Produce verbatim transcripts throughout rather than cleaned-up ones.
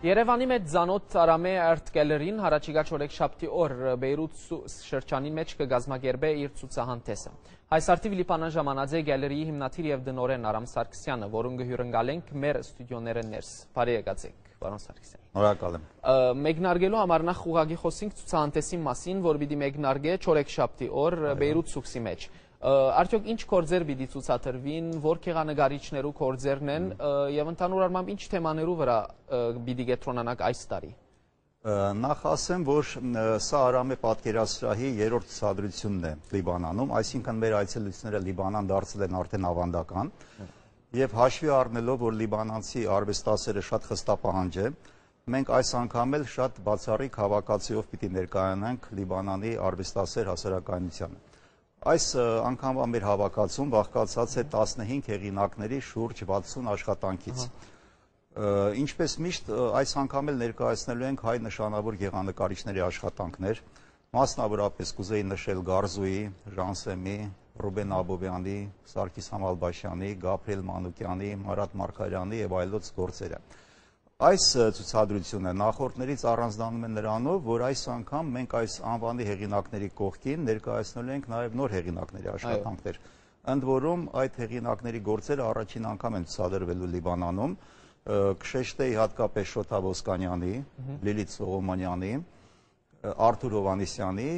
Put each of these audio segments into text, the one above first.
Երևանի մեջ ձանոթ Արամե Art Gallery-ին հարաճիգա չորեքշաբթի օր Բեյրութ շրջանի մեջ կգազմագերբե իր ցուցահանդեսը։ Այս արդիվ Լիբանան ժամանած է գալերիի հիմնադիր եւ դնորեն Արամ Սարգսյանը, որուն գհյուրընկալենք մեր ստուդիոները ներս։ Բարի եկացեք, պարոն Սարգսյան։ Շնորհակալ եմ։ Մեկնարկելու համար նախ ուղղակի խոսենք ցուցահանդեսի մասին, որ պիտի մեկնարկե չորեքշաբթի օր Բեյրութ ցուցի մեջ։ Արդյոք ինչ կորձեր պիտի ցուցադրվին, որ քեղանկարիչներու կորձերն են եւ ընդհանուր առմամբ ինչ թեմաներու վրա պիտի կենտրոնանաք այս տարի։ Նախ ասեմ, որ սա Արամե պատկերասրահի երրորդ ցուցադրությունն է Լիբանանում, այսինքն մեր այցելությունները Լիբանան դարձել են արդեն ավանդական եւ հաշվի առնելով, որ լիբանանցի արվեստասերը շատ խստապահանջ է, մենք այս անգամ էլ շատ բացառիկ հավաքածուով պիտի ներկայանանք Լիբանանի արվեստասեր հասարակայնությանը։ Այս անգամվա մեր հավաքածուն բաղկացած է տասնհինգ հեղինակների շուրջ վաթսուն աշխատանքից։ Ինչպես միշտ այս անգամ էլ ներկայացնելու ենք հայ նշանավոր գեղանկարիչների աշխատանքներ, մասնավորապես կուզեի նշել Գարզուի, Ժանսեմի, Ռուբեն Աբովյանի, Սարգիս Համալբաշյանի, Գաբրիել Մանուկյանի, Մարատ Մարգարյանի եւ այլոց գործերը։ Այս ցուցադրությունը նախորդներից առանձնանում է նրանով, որ այս անգամ մենք այս անվանի հեղինակների կողքին ներկայացնելու ենք նաև նոր հեղինակների աշխատանքներ։ Ընդ որում այդ հեղինակների գործերը առաջին անգամ են ցուցադրվելու Լիբանանում, կշեշտեի հատկապես Շոթա Ոսկանյանի, Լիլիթ Սողոմոնյանի, Արթուր Հովանեսյանի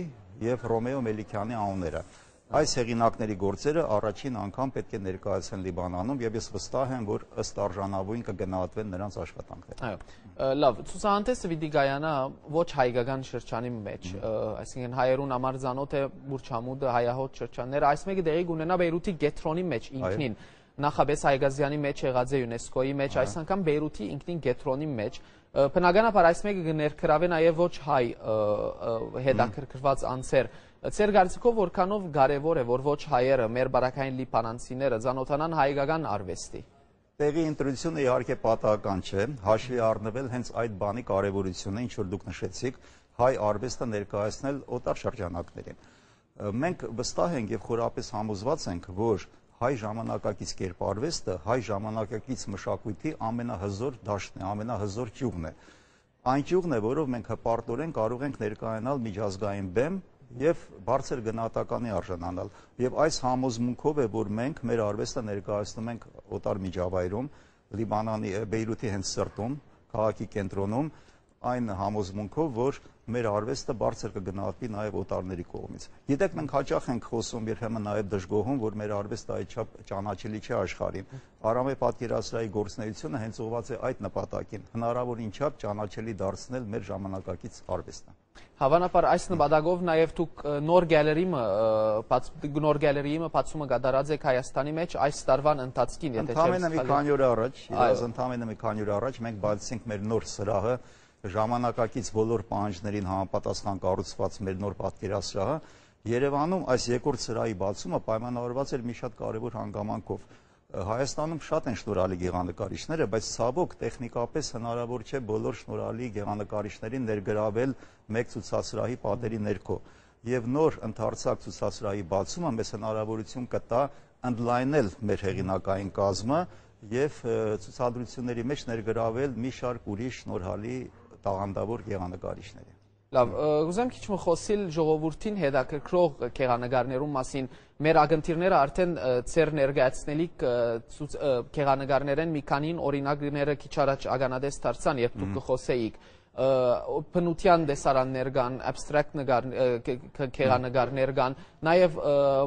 եւ Ռոմեո Մելիքյանի անունները։ Այս հեղինակների գործերը առաջին անգամ պետք է ներկայացեն Լիբանանում եւ ես վստահ եմ, որ ըստ արժանավույն կգնահատվեն նրանց աշխատանքները։ Այո, լավ, ցուցահանդեսը պիտի գայանա ոչ հայկական շրջանի մեջ, այսինքն հայերուն համար ծանոթ է Բուրչամուդը, հայահոտ շրջանները, այս մեկը դեղի կունենա Բեյրութի գետրոնի մեջ ինքնին, նախաբես Հայգազյանի մեջ եղած է ՅՈՒՆԵՍԿՕ-ի մեջ, այս անգամ Բեյրութի ինքնին գետրոնի մեջ, բնականաբար այս մեկը կներկրավե նաեւ ոչ հայ հետաքրքրված անձեր։ Ձեր կարծիքով որքանով կարևոր է, որ ոչ հայերը, մեր բարակային լիբանանցիները ծանոթանան հայկական արվեստի։ Տեղի ընտրությունը իհարկե պատահական չէ, հաշվի առնվել հենց այդ բանի կարևորությունը, ինչ որ դուք նշեցիք, հայ արվեստը ներկայացնել օտար շրջանակներին։ Մենք վստահ ենք եւ խորապես համոզված ենք, որ հայ ժամանակակից կերպարվեստը հայ ժամանակակից մշակույթի ամենահզոր դաշտն է, ամենահզոր ճյուղն է։ Այն ճյուղն է, որով մենք հպարտորեն կարող ենք ներկայանալ միջազգային բեմ եւ բարձր գնահատականի արժանանալ եւ այս համոզմունքով է որ մենք մեր արվեստը ներկայացնում ենք օտար միջավայրում Լիբանանի Բեյրութի հենց սրտում քաղաքի կենտրոնում այն համոզմունքով որ մեր արվեստը բարձր կգնահատվի նաեւ օտարների կողմից գիտեք մենք հաճախ ենք խոսում երբեմն նաեւ դժգոհում որ մեր արվեստը այդչափ ճանաչելի չէ աշխարհին Արամե պատկերասրահի գործունեությունը հենց ուղղված է այդ նպատակին հնարավոր ինչափ ճանաչելի դարձնել մեր ժամանակակից արվեստը Հավանաբար այս նպատակով նաև դուք նոր գալերիը նոր գալերիը բացումը կատարած եք Հայաստանի մեջ այս տարվան ընթացքին եթե չեմ սխալվում։ Ընդամենը մի քանի օր առաջ, իրաց ընդամենը մի քանի օր առաջ մենք բացեցինք մեր նոր սրահը ժամանակակից բոլոր պահանջներին համապատասխան կառուցված մեր նոր պատկերասրահը Երևանում այս երկրորդ սրահի բացումը պայմանավորված էր մի շատ կարևոր հանգամանքով Հայաստանում շատ են շնորհալի գեղանկարիչները, բայց ցավոք տեխնիկապես հնարավոր չէ բոլոր շնորհալի գեղանկարիչներին ներգրավել մեկ ցուցասրահի պատերի ներքո։ Եվ նոր ընդարձակ ցուցասրահի բացումը մեզ հնարավորություն կտա ընդլայնել մեր հեղինակային կազմը եւ ցուցադրությունների մեջ ներգրավել մի շարք ուրիշ շնորհալի տաղանդավոր գեղանկարիչների։ Լավ, ուզեմ քիչ խոսել ժողովրդին հետաքրքրող գեղանկարներու մասին։ Մեր ագընթիրները արդեն ծեր ներկայացնելիք գեղանկարներեն մի քանին օրինակները քիչ առաջ ագանադես դարձան, երբ դուք կխոսեիք բնության դեսարաններ կան, abstract գեղանկարներ կան, նաև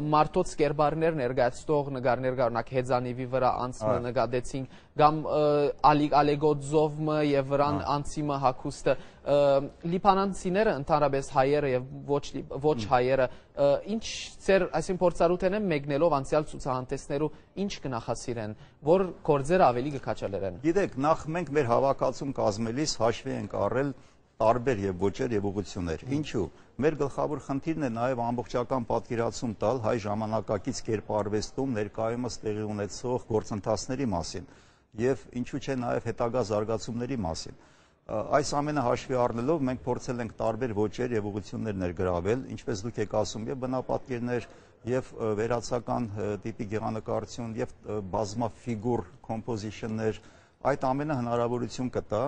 մարդոց կերպարներ ներկայացնող նկարներ կան, օրինակ հեծանիվի վրա անցումը նկատեցինք, կամ ալեգոձովը եւ վրան անցիմը հագուստը լիբանանցիները ընդհանրապես հայերը եւ ոչ ոչ հայերը ինչ ծեր այսին փորձառութեն են մեկնելով անցյալ ցուցահանդեսներու ինչ կնախասիրեն որ գործերը ավելի կքաչալերեն Գիտեք նախ մենք մեր հավաքածուն կազմելիս հաշվի ենք առել տարբեր եւ ոճեր եւ ուղղություններ ինչու մեր գլխավոր խնդիրն է նաեւ ամբողջական պատկերացում տալ հայ ժամանակակից կերպարվեստում ներկայումս տեղի ունեցող գործընթացների մասին եւ ինչու՞ չէ նաեւ հետագա զարգացումների մասին Այս ամենը հաշվի առնելով մենք փորձել ենք տարբեր ոճեր եւ ուղղություններ ներգրավել, ինչպես դուք եք ասում, եւ բնապատկերներ, եւ վերացական տիպի գեղանկարություն, եւ բազմաֆիգուր կոմպոզիշններ, այդ ամենը հնարավորություն կտա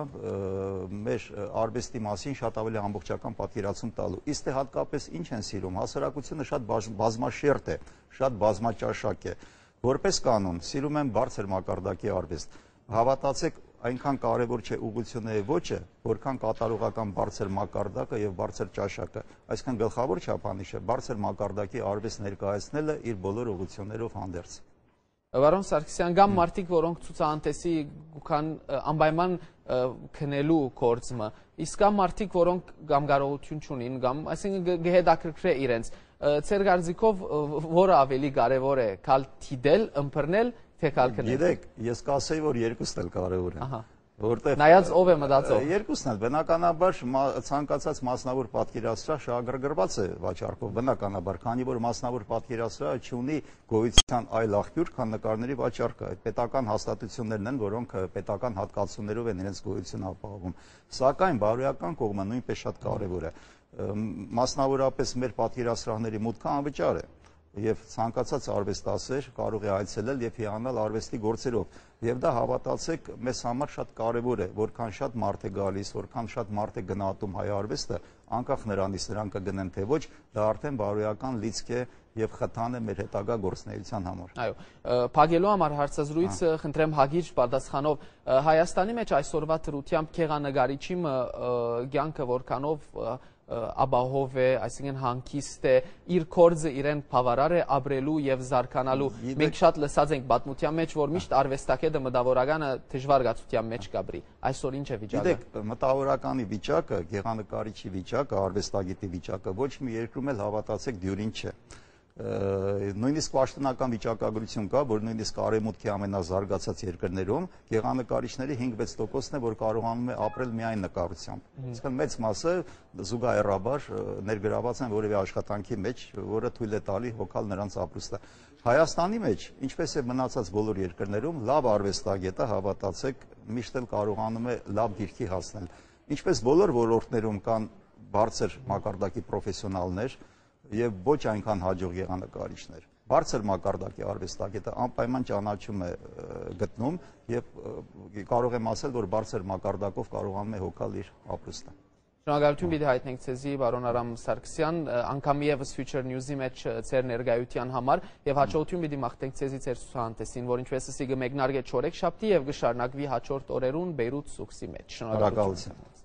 մեր արվեստի մասին շատ ավելի ամբողջական պատկերացում տալու։ Իսկ հատկապես ինչ են սիրում, հասարակությունը շատ բազմաշերտ է, շատ բազմաճաշակ է։ Որպես կանոն, սիրում են բարձր մակարդակի արվեստ։ Հավատացեք, այնքան կարևոր չէ ուղղությունների ոճը, որքան կատարողական բարձր մակարդակը եւ բարձր ճաշակը։ Այսինքն գլխավոր չափանիշը բարձր մակարդակի արվեստ ներկայացնելը իր բոլոր ուղղություններով հանդերձ։ Վարոն Սարգսյան, գամ մարդիկ, որոնք ցուցահանդեսի գուքան անպայման քնելու կորձը, իսկ կան մարդիկ, որոնք կամ կարողություն չունին, կամ այսինքն գեհդակրկրե իրենց։ Ձեր կարծիքով որը ավելի կարևոր է, կալ թիդել, ըմբռնել, թե կալ քնել։ Գիտեք, ես կասեի, որ երկուսն էլ կարևոր են։ Որտեղ նայած ով է մտածող։ Երկուսն էլ բնականաբար ցանկացած մասնավոր պատկերասրահ շահագրգռված է վաճառքով, բնականաբար, քանի որ մասնավոր պատկերասրահը չունի գոյության այլ աղբյուր, քան նկարների վաճառքը։ Այդ պետական հաստատություններն են, որոնք պետական հատկացումներով են իրենց գոյությունը ապահովում։ Սակայն բարոյական կողմը նույնպես շատ կարևոր է։ Մասնավորապես մեր պատկերասրահների մուտքը անվճար է։ Եվ ցանկացած արվեստասեր կարող է այցելել եւ հիանալ արվեստի գործերով։ Եվ դա հավատացեք, մեզ համար շատ կարևոր է, որքան շատ մարդ է գալիս, որքան շատ մարդ է գնահատում հայ արվեստը, անկախ նրանից նրանք կգնեն թե ոչ, դա արդեն բարոյական լիցք է եւ խթան է մեր հետագա գործունեության համար։ Այո, փակելու համար հարցազրույցը խնդրեմ հագիր պատասխանով Հայաստանի մեջ այսօրվա դրությամբ քեղանկարիչի կյանքը որքանով ապահով է, այսինքն հանգիստ է, իր կորձը իրեն բավարար է ապրելու եւ զարգանալու։ Մենք շատ լսած ենք պատմության մեջ, որ միշտ արվեստագետը մտավորականը դժվար գացության մեջ կապրի։ Այսօր ինչ է վիճակը։ Գիտեք, մտավորականի վիճակը, գեղանկարիչի վիճակը, արվեստագետի վիճակը ոչ մի երկրում էլ հավատացեք դյուրին չէ։ Նույնիսկ պաշտոնական վիճակագրություն կա, որ նույնիսկ արևմուտքի ամենազարգացած երկրներում գեղանկարիչների հինգ-վեց տոկոսն է, որ կարողանում է ապրել միայն նկարությամբ։ Իսկ մեծ մասը զուգահեռաբար ներգրաված են որևէ աշխատանքի մեջ, որը թույլ է տալի հոգալ նրանց ապրուստը։ Հայաստանի մեջ, ինչպես է մնացած բոլոր երկրներում, լավ արվեստագետը, հավատացեք, միշտ էլ կարողանում է լավ դիրքի հասնել։ Ինչպես բոլոր ոլորտներում կան բարձր մակարդակի պրոֆեսիոնալներ եւ ոչ այնքան հաջող գեղանկարիչներ։ Բարձր մակարդակի արվեստագետը անպայման ճանաչում է գտնում եւ կարող եմ ասել, որ բարձր մակարդակով կարողանում է հոգալ իր ապրուստը։ Շնորհակալություն պիտի հայտնենք ցեզի բարոն Արամ Սարգսյան, անգամ եւս Future News-ի մեջ ձեր ներկայության համար եւ հաջողություն պիտի մաղթենք ցեզի ձեր ցուցահանդեսին, որ ինչպես ասի կմեկնարկե չորեքշաբթի եւ կշարունակվի հաջորդ օրերուն Բեյրութ Սուքսի մեջ։ Շնորհակալություն։